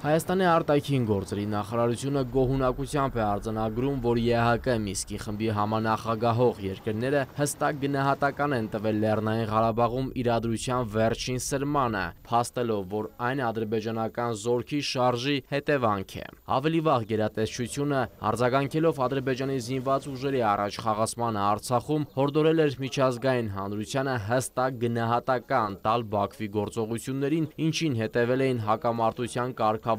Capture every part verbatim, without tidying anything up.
Հայաստանի արտաքին գործերի նախարարությունը գոհունակությամբ է արձանագրում, որ ԵՀԿ Միսկի խմբի համանախագահող երկրները հստակ գնահատական են տվել Լեռնային Ղարաբաղում իրադրության վերջին սրմանը, փաստելով, որ այն ադրբեջանական զորքի շարժի հետևանք է։ Ավելի վաղ գերատեսչությունը, արձագանքելով Ադրբեջանի զինված ուժերի առաջխաղացմանը Արցախում, հորդորել էր միջազգային հանրությանը հստակ գնահատական տալ Բաքվի գործողություններին, ինչին հետևել էին հակամարտության կարգավորման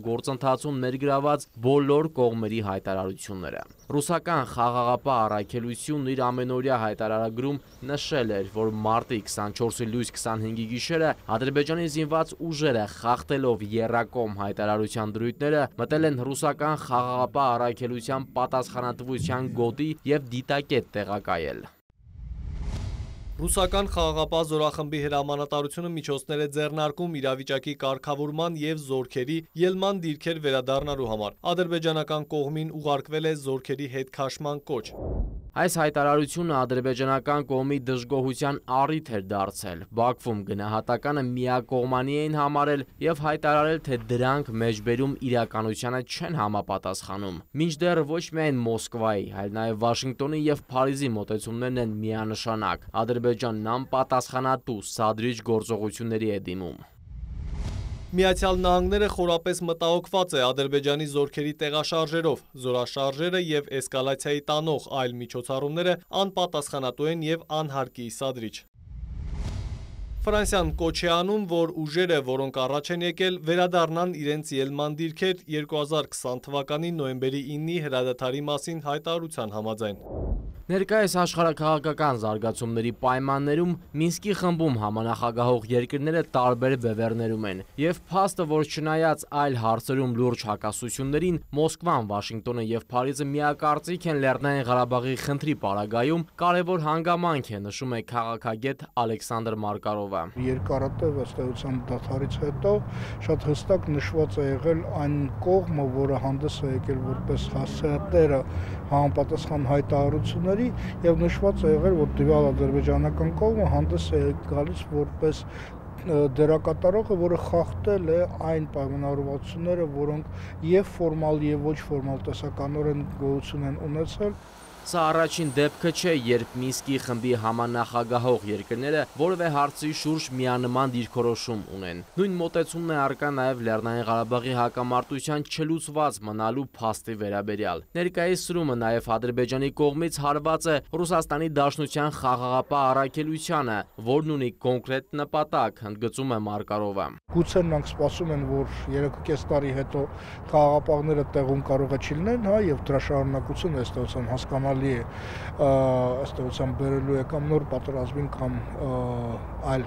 գործընթացում ներգրաված բոլոր կողմերի հայտարարությունները։ Ռուսական խաղաղապահ առաքելությունն իր ամենօրյա հայտարարագրում նշել էր, որ մարտի քսանչորսի լույս քսանհինգի գիշերը Ադրբեջանի զինված ուժերը խախտելով եռակողմ հայտարարության դրույթները մտել են ռուսական խաղաղապահ առաքելության պատասխանատվության գոտի և դիտակետ տեղակայել։ Ռուսական խաղաղապահ զորախմբի հրամանատարությունը միջոցներ է ձեռնարկում իրավիճակի կարգավորման և զորքերի ելման դիրքեր վերադառնալու համար։ Ադրբեջանական կողմին ուղարկվել է զորքերի հետքաշման կոչ։ Այս հայտարարությունը ադրբեջանական կողմի դժգոհության առիթ էր դարձել։ Բաքվում գնահատականը միակողմանի էին համարել և հայտարարել, թե դրանք մեջբերում իրականությանը չեն համապատասխանում։ Մինչդեռ ոչ միայն Մոսկվայի, այլ նաև Վաշինգտոնի և Փարիզի մոտեցումներն են միանշանակ։ Ադրբեջանն անպատասխանատու սադրիչ գործողությունների է դիմում։ Միացյալ Նահանգները խորապես մտահոգված է Ադրբեջանի զորքերի տեղաշարժերով, զորաշարժերը և էսկալացիայի տանող այլ միջոցառումները անպատասխանատու են և անհարկի սադրիչ։ Ֆրանսիան կոչ է անում, որ ուժերը, որոնք առաջ են եկել, վերադառնան իրենց ելման դիրքեր երկու հազար քսան թվականի նոյեմբերի իննի հրադադարի մասին հայտարարության համաձայն։ Ներկայիս աշխարհաքաղաքական զարգացումների պայմաններում Մինսկի խմբում համանախագահող երկրները տարբեր բևեռներում են, և փաստը, որ չնայած այլ հարցերում լուրջ հակասություններին, Մոսկվան, Վաշինգտոնը և Փարիզը միակարծիք են Լեռնային Ղարաբաղի խնդրի պարագայում, կարևոր հանգամանք է, նշում է քաղաքագետ Ալեքսանդր Մարկարովը։ Երկարատև ըստ էության դադարից հետո շատ հստակ նշված է եղել այն կողմը, որը հանդես է եկել որպես հասցեատերը համապատասխան հայտարարությունների, և նշված է եղել, որ տվյալ ադրբեջանական կողմը հանդես է գալիս որպես դերակատարողը, որը խախտել է այն պայմանավորվածությունները, որոնք և ֆորմալ և ոչ ֆորմալ տեսականորեն գոյություն են ունեցել։ Սա առաջին դեպքը չէ, երբ Մինսկի խմբի համանախագահող երկրները որևէ հարցի շուրջ միանման դիրքորոշում ունեն։ Նույն մոտեցումն է առկա նաև Լեռնային Ղարաբաղի հակամարտության չլուծված մնալու փաստի վերաբերյալ։ Ներկայիս սրումը նաև Ադրբեջանի կողմից հարված է Ռուսաստանի Դաշնության խաղաղապահ առաքելությանը, որն ունի կոնկրետ նպատակ, ընդգծում է Մարկարովը։ Գուցե նրանք սպասում են, որ երեք ու կես տարի հետո խաղաղապահները տեղում կարող է չլինեն, հա, և դրա շարունակությունը ըստ էության հասկանալի է, ըստ էության բերելու է կամ նոր պատերազմին կամ այլ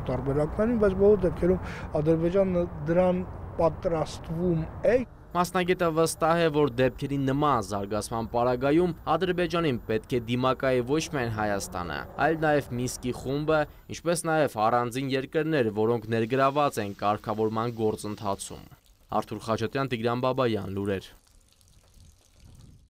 տարբերակներին, բայց բոլոր դեպքերում Ադրբեջանը դրան պատրաստվում է։ Մասնագետը վստահ է, որ դեպքերի նման զարգացման պարագայում Ադրբեջանին պետք է դիմակայի ոչ միայն Հայաստանը, այլ նաև Մինսկի խումբը, ինչպես նաև առանձին երկրներ, որոնք ներգրաված են կարգավորման գործընթացում։ Արթուր Խաչատրյան, Տիգրան Բաբայան, լուրեր։